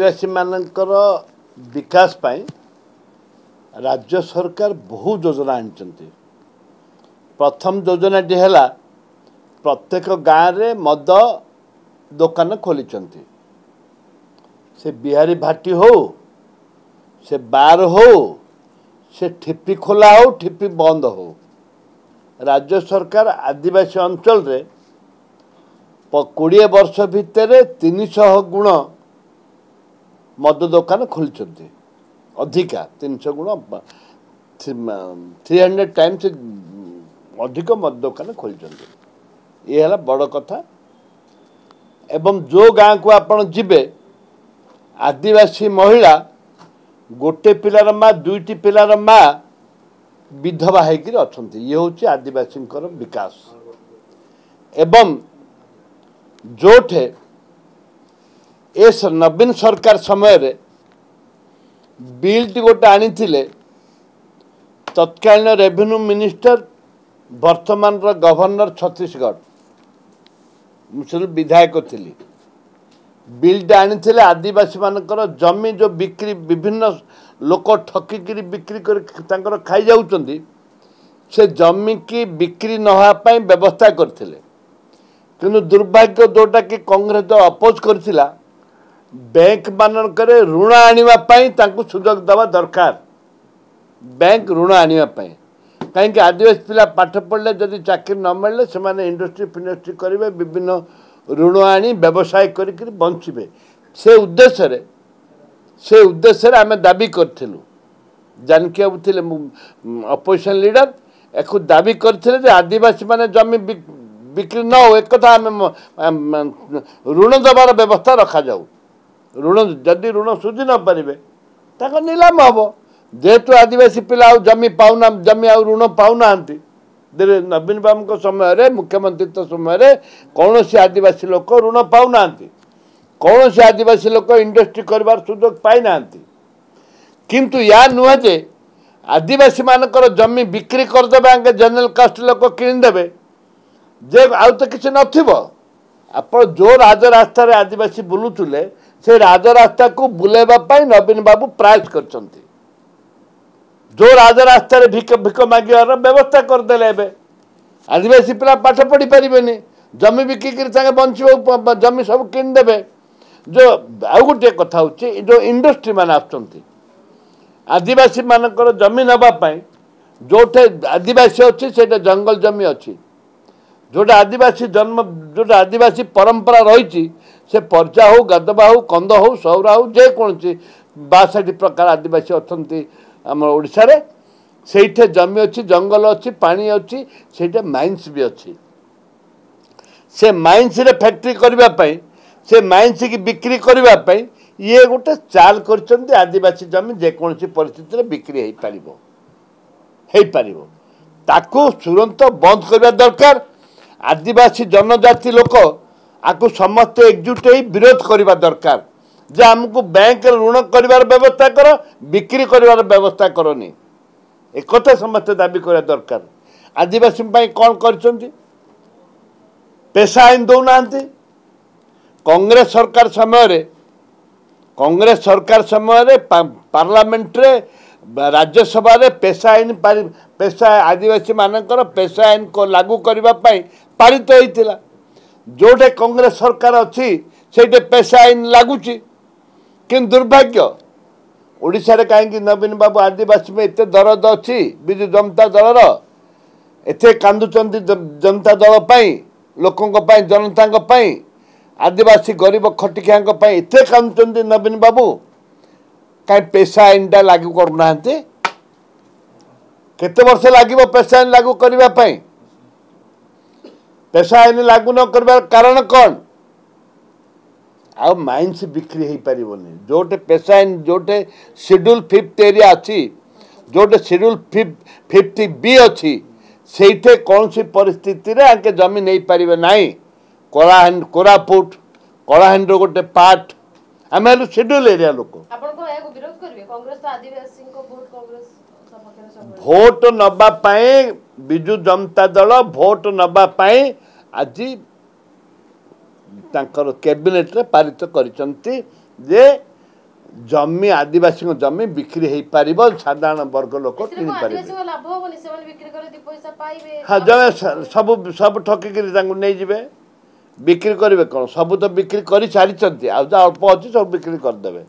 ଆଦିବାସୀମାନଙ୍କର ବିକାଶ ପାଇଁ ରାଜ୍ୟ ସରକାର ବହୁ ଯୋଜନା ଆଣିଛନ୍ତି। ପ୍ରଥମ ଯୋଜନାଟି ହେଲା ପ୍ରତ୍ୟେକ ଗାଁରେ ମଦ ଦୋକାନ ଖୋଲିଛନ୍ତି। ସେ ବିହାରୀ ଭାଟି ହଉ, ସେ ବାର ହଉ, ସେ ଠିପି ଖୋଲା ହଉ, ଠିପି ବନ୍ଦ ହଉ, ରାଜ୍ୟ ସରକାର ଆଦିବାସୀ ଅଞ୍ଚଳରେ 20 ବର୍ଷ ଭିତରେ 300 ଗୁଣ ମଦ ଦୋକାନ ଖୋଲିଛନ୍ତି। ଅଧିକା 300 ଗୁଣ, 300 ଟାଇମ୍ସ ଅଧିକ ମଦ ଦୋକାନ ଖୋଲିଛନ୍ତି। ଇଏ ହେଲା ବଡ଼ କଥା। ଏବଂ ଯେଉଁ ଗାଁକୁ ଆପଣ ଯିବେ, ଆଦିବାସୀ ମହିଳା ଗୋଟେ ପିଲାର ମା, ଦୁଇଟି ପିଲାର ମା ବିଧବା ହେଇକିରି ଅଛନ୍ତି। ଇଏ ହେଉଛି ଆଦିବାସୀଙ୍କର ବିକାଶ। ଏବଂ ଯେଉଁଠି ଏ ନବୀନ ସରକାର ସମୟରେ ବିଲ୍ଟି ଗୋଟେ ଆଣିଥିଲେ, ତତ୍କାଳୀନ ରେଭିନ୍ୟୁ ମିନିଷ୍ଟର, ବର୍ତ୍ତମାନର ଗଭର୍ଣ୍ଣର ଛତିଶଗଡ଼, ମୁଁ ସେଠୁ ବିଧାୟକ ଥିଲି, ବିଲ୍ଟା ଆଣିଥିଲେ ଆଦିବାସୀମାନଙ୍କର ଜମି ଯେଉଁ ବିକ୍ରି ବିଭିନ୍ନ ଲୋକ ଠକିକିରି ବିକ୍ରି କରି ତାଙ୍କର ଖାଇଯାଉଛନ୍ତି, ସେ ଜମିକି ବିକ୍ରି ନ ହେବା ପାଇଁ ବ୍ୟବସ୍ଥା କରିଥିଲେ। କିନ୍ତୁ ଦୁର୍ଭାଗ୍ୟ, ଯେଉଁଟାକି କଂଗ୍ରେସ ଦଳ ଅପୋଜ କରିଥିଲା, ବ୍ୟାଙ୍କ ମାନଙ୍କରେ ଋଣ ଆଣିବା ପାଇଁ ତାଙ୍କୁ ସୁଯୋଗ ଦେବା ଦରକାର, ବ୍ୟାଙ୍କ ଋଣ ଆଣିବା ପାଇଁ। କାହିଁକି ଆଦିବାସୀ ପିଲା ପାଠ ପଢ଼ିଲେ ଯଦି ଚାକିରି ନ ମିଳିଲେ ସେମାନେ ଇଣ୍ଡଷ୍ଟ୍ରି ଫିଣ୍ଡଷ୍ଟ୍ରି କରିବେ, ବିଭିନ୍ନ ଋଣ ଆଣି ବ୍ୟବସାୟ କରିକିରି ବଞ୍ଚିବେ। ସେ ଉଦ୍ଦେଶ୍ୟରେ ଆମେ ଦାବି କରିଥିଲୁ। ଜାନକୀ ବାବୁ ଥିଲେ ଅପୋଜିସନ୍ ଲିଡର, ଏକୁ ଦାବି କରିଥିଲେ ଯେ ଆଦିବାସୀମାନେ ଜମି ବିକ୍ରି ନ ହଉ, ଏକଥା ଆମେ ଋଣ ଦେବାର ବ୍ୟବସ୍ଥା ରଖାଯାଉ। ଋଣ ଯଦି ଋଣ ସୁଝି ନ ପାରିବେ, ତାଙ୍କ ନିଲାମ ହେବ। ଯେହେତୁ ଆଦିବାସୀ ପିଲା ଆଉ ଜମି ପାଉନା, ଜମି ଆଉ ଋଣ ପାଉନାହାନ୍ତି। ନବୀନ ବାବୁଙ୍କ ସମୟରେ, ମୁଖ୍ୟମନ୍ତ୍ରୀତ୍ୱ ସମୟରେ କୌଣସି ଆଦିବାସୀ ଲୋକ ଋଣ ପାଉନାହାନ୍ତି, କୌଣସି ଆଦିବାସୀ ଲୋକ ଇଣ୍ଡଷ୍ଟ୍ରି କରିବାର ସୁଯୋଗ ପାଇନାହାନ୍ତି। କିନ୍ତୁ ୟା ନୁହେଁ ଯେ ଆଦିବାସୀମାନଙ୍କର ଜମି ବିକ୍ରି କରିଦେବେ, ଆଗେ ଜେନେରାଲ କାଷ୍ଟ ଲୋକ କିଣିଦେବେ ଯେ ଆଉ ତ କିଛି ନଥିବ। ଆପଣ ଯେଉଁ ରାଜରାସ୍ତାରେ ଆଦିବାସୀ ବୁଲୁଥିଲେ, ସେ ରାଜରାସ୍ତାକୁ ବୁଲେଇବା ପାଇଁ ନବୀନ ବାବୁ ପ୍ରୟାସ କରିଛନ୍ତି। ଯେଉଁ ରାଜରାସ୍ତାରେ ଭିକ ମାଗିବାର ବ୍ୟବସ୍ଥା କରିଦେଲେ, ଏବେ ଆଦିବାସୀ ପିଲା ପାଠ ପଢ଼ି ପାରିବେନି। ଜମି ବିକିକିରି ତାଙ୍କେ ବଞ୍ଚିବାକୁ ଜମି ସବୁ କିଣିଦେବେ। ଯେଉଁ ଆଉ ଗୋଟିଏ କଥା ହେଉଛି, ଏ ଯେଉଁ ଇଣ୍ଡଷ୍ଟ୍ରି ମାନେ ଆସୁଛନ୍ତି ଆଦିବାସୀମାନଙ୍କର ଜମି ନେବା ପାଇଁ, ଯେଉଁଠି ଆଦିବାସୀ ଅଛି ସେଇଟା ଜଙ୍ଗଲ ଜମି ଅଛି, ଯେଉଁଟା ଆଦିବାସୀ ଜନ୍ମ, ଯେଉଁଟା ଆଦିବାସୀ ପରମ୍ପରା ରହିଛି, ସେ ପର୍ଜା ହଉ, ଗାଦବା ହଉ, କନ୍ଦ ହଉ, ସୌରା ହଉ, ଯେକୌଣସି 62 ପ୍ରକାର ଆଦିବାସୀ ଅଛନ୍ତି ଆମ ଓଡ଼ିଶାରେ, ସେଇଠି ଜମି ଅଛି, ଜଙ୍ଗଲ ଅଛି, ପାଣି ଅଛି, ସେଇଟା ମାଇନ୍ସ ବି ଅଛି। ସେ ମାଇନ୍ସରେ ଫ୍ୟାକ୍ଟ୍ରି କରିବା ପାଇଁ, ସେ ମାଇନ୍ସକି ବିକ୍ରି କରିବା ପାଇଁ ଇଏ ଗୋଟେ ଚାଲ କରିଛନ୍ତି। ଆଦିବାସୀ ଜମି ଯେକୌଣସି ପରିସ୍ଥିତିରେ ବିକ୍ରି ହେଇପାରିବ, ତାକୁ ତୁରନ୍ତ ବନ୍ଦ କରିବା ଦରକାର। ଆଦିବାସୀ ଜନଜାତି ଲୋକ ଆକୁ ସମସ୍ତେ ଏକଜୁଟ ହେଇ ବିରୋଧ କରିବା ଦରକାର ଯେ ଆମକୁ ବ୍ୟାଙ୍କରେ ଋଣ କରିବାର ବ୍ୟବସ୍ଥା କର, ବିକ୍ରି କରିବାର ବ୍ୟବସ୍ଥା କରନି। ଏକଥା ସମସ୍ତେ ଦାବି କରିବା ଦରକାର। ଆଦିବାସୀଙ୍କ ପାଇଁ କ'ଣ କରିଛନ୍ତି? ପେସା ଆଇନ ଦେଉନାହାନ୍ତି। କଂଗ୍ରେସ ସରକାର ସମୟରେ ପାର୍ଲାମେଣ୍ଟରେ, ରାଜ୍ୟସଭାରେ ପେସା ଆଇନ, ପେସା, ଆଦିବାସୀମାନଙ୍କର ପେସା ଆଇନ ଲାଗୁ କରିବା ପାଇଁ ପାରିତ ହେଇଥିଲା। ଯେଉଁଠି କଂଗ୍ରେସ ସରକାର ଅଛି, ସେଇଠି ପେସା ଆଇନ ଲାଗୁଛି। କିନ୍ତୁ ଦୁର୍ଭାଗ୍ୟ, ଓଡ଼ିଶାରେ କାହିଁକି ନବୀନ ବାବୁ ଆଦିବାସୀ ପାଇଁ ଏତେ ଦରଦ ଅଛି? ବିଜୁ ଜନତା ଦଳର ଏତେ କାନ୍ଦୁଛନ୍ତି ଜନତା ଦଳ ପାଇଁ, ଲୋକଙ୍କ ପାଇଁ, ଜନତାଙ୍କ ପାଇଁ, ଆଦିବାସୀ ଗରିବ ଖଟିଖିଆଙ୍କ ପାଇଁ ଏତେ କାନ୍ଦୁଛନ୍ତି ନବୀନ ବାବୁ, କାହିଁ ପେସା ଆଇନଟା ଲାଗୁ କରୁନାହାନ୍ତି? କେତେ ବର୍ଷ ଲାଗିବ ପେସା ଆଇନ ଲାଗୁ କରିବା ପାଇଁ? ପେସା ଆଇନ ଲାଗୁ ନ କରିବାର କାରଣ କ'ଣ? ଆଉ ମାଇନ୍ସ ବିକ୍ରି ହେଇପାରିବନି। ଯେଉଁଠି ପେସା ଆଇନ, ଯେଉଁଠି ସିଡ୍ୟୁଲ୍ ଫିଫ୍ଥ ଏରିଆ ଅଛି, ଯେଉଁଠି ସିଡ୍ୟୁଲ୍ ଫିଫ୍ଥ ବି ଅଛି, ସେଇଠି କୌଣସି ପରିସ୍ଥିତିରେ ଆଙ୍କେ ଜମି ନେଇପାରିବେ ନାହିଁ। କଳାହାଣ୍ଡି, କୋରାପୁଟ, କଳାହାଣ୍ଡିର ଗୋଟେ ପାର୍ଟ, ଆମେ ହେଲୁ ସିଡ୍ୟୁଲ୍ ଏରିଆ ଲୋକ। ଆପଣ କଣ ଏହାକୁ ବିରୋଧ କରିବେ? କଂଗ୍ରେସ ତ ଆଦିବାସୀଙ୍କ ଭୋଟ କଂଗ୍ରେସ ସପକ୍ଷରେ ସବୁବେଳେ। ଭୋଟ ନେବା ପାଇଁ, ବିଜୁ ଜନତା ଦଳ ଭୋଟ ନେବା ପାଇଁ ଆଜି ତାଙ୍କର କ୍ୟାବିନେଟରେ ପାରିତ କରିଛନ୍ତି ଯେ ଜମି, ଆଦିବାସୀଙ୍କ ଜମି ବିକ୍ରି ହେଇପାରିବ, ସାଧାରଣ ବର୍ଗ ଲୋକ କିଣିପାରିବେ। ହଁ, ଜଣେ ସବୁ ସବୁ ଠକିକିରି ତାଙ୍କୁ ନେଇଯିବେ, ବିକ୍ରି କରିବେ କ'ଣ? ସବୁ ତ ବିକ୍ରି କରି ସାରିଛନ୍ତି, ଆଉ ଯାହା ଅଳ୍ପ ଅଛି ସବୁ ବିକ୍ରି କରିଦେବେ।